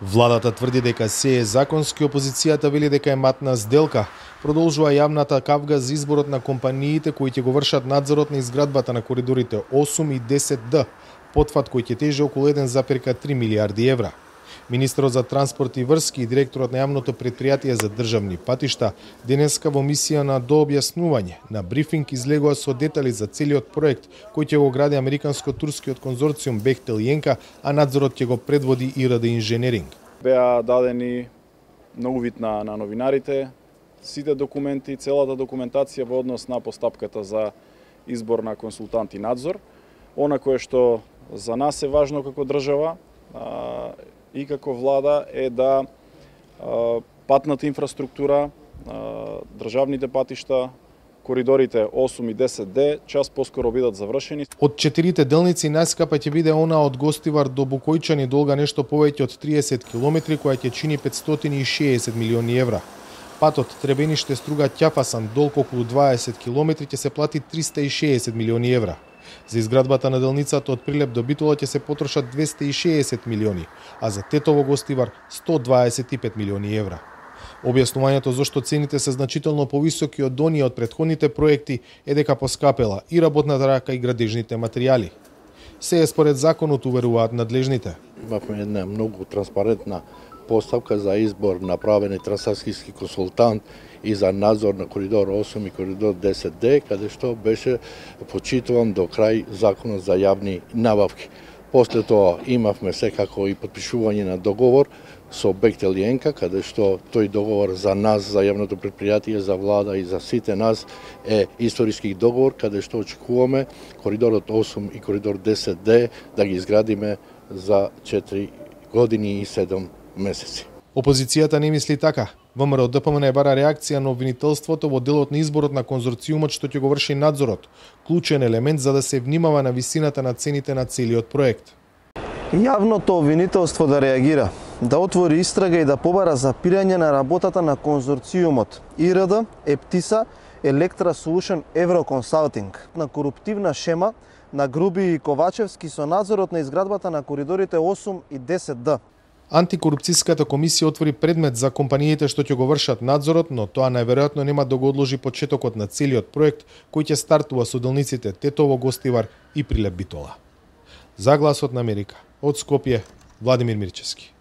Владата тврди дека се е законски, опозицијата вели дека е матна сделка. Продолжува јавната кавга за изборот на компаниите кои ќе го вршат надзорот на изградбата на коридорите 8 и 10D, потфат кој ќе тежи околу 1,3 милијарди евра. Министерот за транспорт и врски и директорот на јавното претпријатие за државни патишта денеска во мисија на дообјаснување на брифинг излегува со детали за целиот проект кој ќе го гради американско-турскиот конзорциум Бехтел и Енка, а надзорот ќе го предводи ИРД Инженеринг. Беа дадени многу вид на новинарите сите документи, целата документација во однос на постапката за избор на консултант и надзор. Она кое што за нас е важно како држава и како влада е да патната инфраструктура, државните патишта, коридорите 8 и 10D час поскоро бидат завршени. Од 4 делници најскапа ќе биде она од Гостивар до Букојчани, долга нешто повеќе од 30 километри, која ќе чини 560 милиони евра. Патот Требениште-Струга-Ќафасан, долг околу 20 километри, ќе се плати 360 милиони евра. За изградбата на делницата од Прилеп до Битола ќе се потрошат 260 милиони, а за Тетово-Гостивар 125 милиони евра. Објаснувањето зошто цените се значително повисоки од оние од претходните проекти е дека поскапела и работната рака и градежните материјали. Се е според законот, уверуваат надлежните. Имавме една многу транспарентна поставка за избор на правен трансакцијски консултант и за надзор на коридор 8 и коридор 10D, каде што беше почитуван до крај законот за јавни набавки. После тоа имавме секако и подпишување на договор со Бехтел и Енка, каде што тој договор за нас, за јавното претпријатие, за влада и за сите нас е историски договор, каде што очекуваме коридорот 8 и коридор 10D да ги изградиме за 4 години и 7 месеци. Опозицијата не мисли така. ВМРО ДПМН бара реакција на обвинителството во делот на изборот на конзорциумот што ќе го врши надзорот, клучен елемент за да се внимава на висината на цените на целиот проект. Јавното обвинителство да реагира, да отвори истрага и да побара запирање на работата на конзорциумот ИРД, Ептиса, Електра Solution Евроконсалтинг на коруптивна шема на Груби и Ковачевски со надзорот на изградбата на коридорите 8 и 10D. Антикорупцијската комисија отвори предмет за компаниите што ќе го вршат надзорот, но тоа најверојатно нема да го одложи почетокот на целиот проект кој ќе стартува со делниците Тетово, Гостивар и Прилеп Битола. За Гласот на Америка, од Скопје, Владимир Мирчевски.